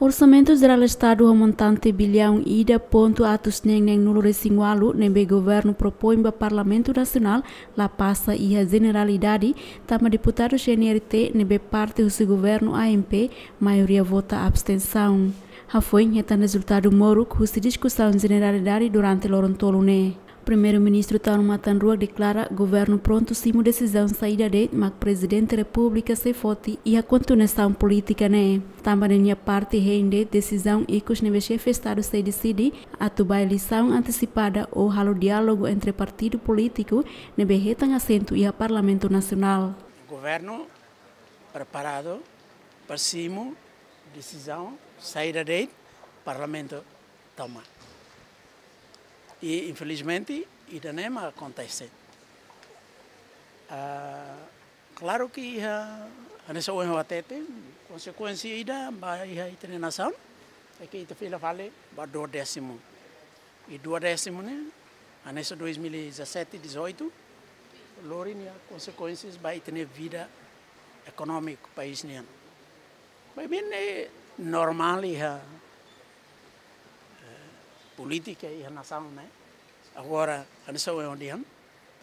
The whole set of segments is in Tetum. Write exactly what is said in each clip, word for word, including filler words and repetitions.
Orsamentu Jerál Estadu ho montante biliaun ida pontu atus neen neen nulu resin ualu ne'ebé governu propoin ba Parlamentu Nasionál la pasa iha jeneralidade, tanba deputadu C N R T ne'ebé parte husi governu A M P maioria vota abstensaun. Hafoin hetan rezultadu moruk husi diskusaun jeneralidade durante loron tolu ne'e. Primeiru-Ministru Taur Matan Ruak deklara governu prontu simu desizaun saida de'it mak Prezidente Repúblika sei foti iha kontinuasaun polítika ne'e. Tanba nia parte hein de'it desizaun ikus ne'ebé Xefe Estadu sei deside atu ba eleisaun antesipada ou halo diálogu entre partidu polítiku ne'ebé hetan asentu iha Parlamentu Nasionál. Governu preparadu para simu desizaun saida de'it Parlamentu toma. I infelizmente ida-ne'e mak akontese. Ah, klaru ke iha, hanesan ohin ha'u hatete, konsekuénsia ida ba iha ita-nia nasaun, é ke ita fila fali ba duodésimu. I duodésimu ne'e, hanesan dois mil e dezassete, dezoito, lori nia konsekuénsias ba ita-nia vida ekonómiku país nian. Maibé ne'e normál iha, eh, polítika iha nasaun ne'e. Agora, hanesan ohin dehan,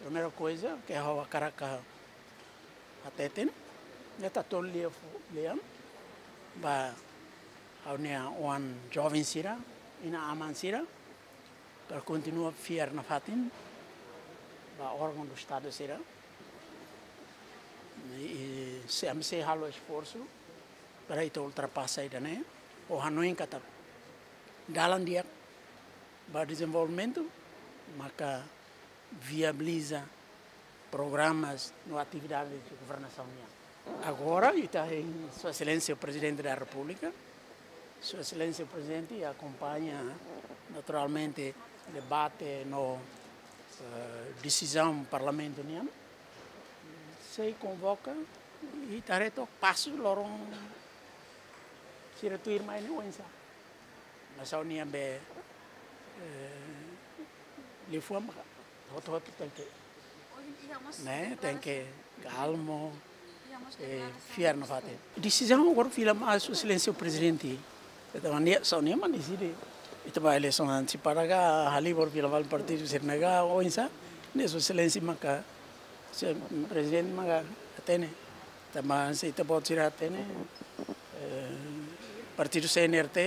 primeira coisa ke ha'u hakarak hateten, ne'e atu tolu lian fu-, lian ba ha'u-nia oan joven sira, inan-aman sira, para kontinua fiar nafatin ba órgaun do Estadu sira. I, i sempre sei halo esforsu para ita ultrapasa ida-ne'e, ha'u hanoin katak dalan di'ak ba dezenvolvimentu maka viabiliza programas no atividades de governasaun nian. Agora, ita hein Sua Exelénsia Prezidente da Repúblika. Sua Exelénsia Prezidente akompaña naturalmente debate no, eh, desizaun Parlamentu nian. Sei konvoka, ita haree took pasu loron sira tuirmai ne'e oinsá. Mas ha'u-nian be, eh, liafuan maka hotu-hotu tenke, ne'e, tenke kalmu, eh, fiar nafatin. Desizaun agora fila mai Sua Exelénsia Prezidente. Entaun, nia, só nia mak deside. Ita ba eleisaun antesipada ka, halimar fila mai partidu sira-ne'e ka, oinsá, ne'e Sua Exelénsia maka, se, Prezidente maka hatene. Tanba se ita-boot sira hatene, eh, partidu C N R T,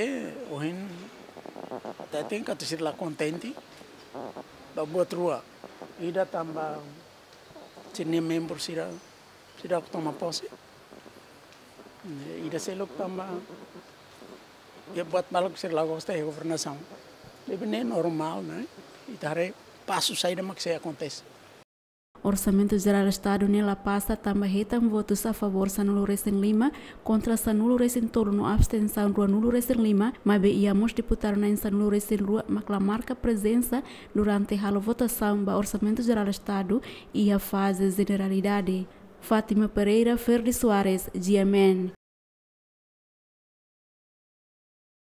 ohin, hateten katak sira la kontente ba buat rua. Ida tanba sira-nia membru sira, sira toma pose. Ida seluk tanba iha buat balu sira la gosta iha governasaun. Ne'ebé ne'e normál, ne'e? Ita haree pasu saida mak sei akontese. Orsamentu Jerál Estadu ne'e la pasa tanba hetan votus a favór sanulu resin lima, kontra sanulu resin tolu no abstensaun ruanulu resin lima, maibé iha mós deputadu na'in sanulu resin rua mak la marka prezensa durante halo votasaun ba Orsamentu Jerál Estadu iha faze jeneralidade. Fátima Pereira, Ferdi Soares, G M N.